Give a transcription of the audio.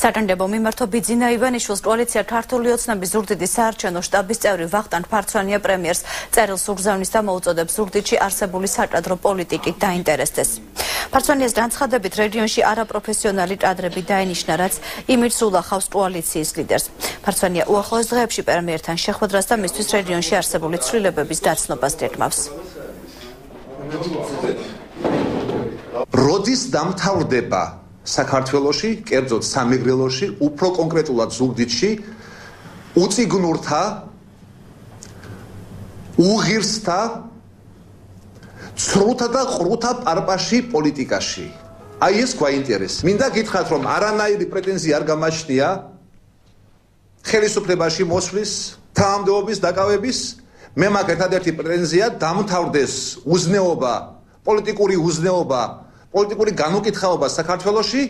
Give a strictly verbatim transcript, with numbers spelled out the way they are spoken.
საკანდებო მიმართო ბიძინა ივანიშვილს კოალიცია ქართული ოცნების ზუგდიდის საარჩევნო შტაბის წევრი ვახტანგ ფარცვანია პრემიერს წერილს უგზავნის და მოუწოდებს ზუგდიდში არსებული საკადრო პოლიტიკით დაინტერესდეს. ფარცვანიას განცხადებით რეგიონში არაპროფესიონალი კადრები დაენიშნა, რაც იმით სულახავს კოალიციის ლიდერს. ფარცვანია უახლოეს დღეებში პრემიერთან შეხვედრას და მისთვის რეგიონში არსებული ცვლილებების დაცნობას გეგმავს. როდის დამთავრდება საქართველოში, კერძოდ სამეგრელოში, უფრო კონკრეტულად ზუგდიდში, უწიგნურთა, უღირსთა, ცრუთა და ყრუთა პარპაში პოლიტიკაში. აი ეს გვაინტერესებს. მინდა გითხრათ, რომ არანაირი პრეტენზია არ გამაჩნია ხელისუფლებაში მოსვლის, თანამდებობის დაკავების. მე მაქვს ერთადერთი პრეტენზია დამთავრდეს უზნეობა, პოლიტიკური უზნეობა, პოლიტიკური განუკითხაობა საქართველოში.